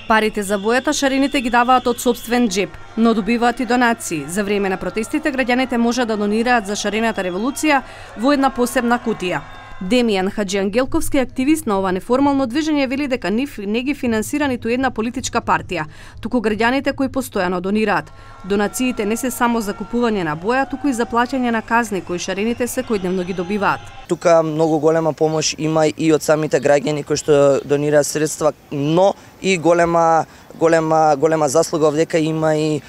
Парите за бојата шарените ги даваат од сопствен џеб, но добиваат и донации. За време на протестите граѓаните можат да донираат за шарената револуција во една посебна кутија. Демијан Хаџиангелковски, активист на ова неформално движење, вели дека не ги финансира ниту една политичка партија, туку граѓаните кои постојано донираат. Донациите не се само за купување на боја, туку и за плаќање на казни кои шарените секојдневно ги добиваат. Тука многу голема помош има и од самите граѓани кои што донираат средства, но и голема заслуга овдека има и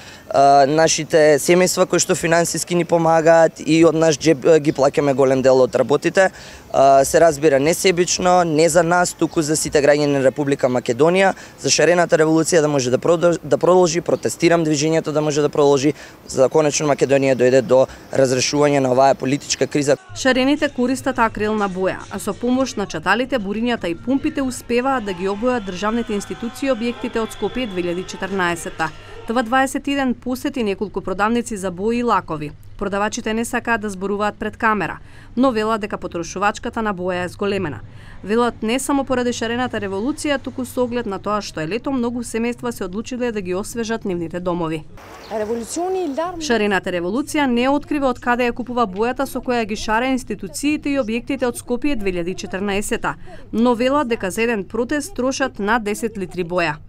нашите семејства кои што финансиски ни помагаат и од наш џеб ги плаќаме голем дел од работите. Се разбира не себично, не за нас, туку за сите граѓани на Република Македонија, за шарената револуција да може да продолжи, протестирам движењето да може да продолжи, за да конечно Македонија дојде до разрешување на оваа политичка криза. Шарените користат акрилна боја, а со помош на чаталите, бурињата и пумпите успеваат да ги обојат државните институции и објектите од Скопје 2014-та. Това 21 посети неколку продавници за бои и лакови. Продавачите не сакаат да зборуваат пред камера, но велат дека потрошувачката на боја е зголемена. Велат не само поради шарената револуција, туку со оглед на тоа што е лето, многу семејства се одлучиле да ги освежат нивните домови. Шарената револуција не открива од каде ја купува бојата со која ги шаре институциите и објектите од Скопје 2014-та, но велат дека за еден протест трошат над 10 литри боја.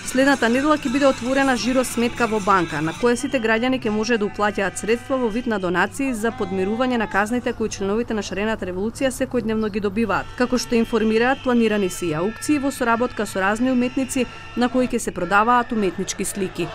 Следната недела ќе биде отворена жиро сметка во банка, на која сите граѓани ќе може да уплаќаат средства во вид на донации за подмирување на казните кои членовите на шарената револуција секојдневно ги добиваат. Како што информираат, планирани се и аукции во соработка со разни уметници на кои ќе се продаваат уметнички слики.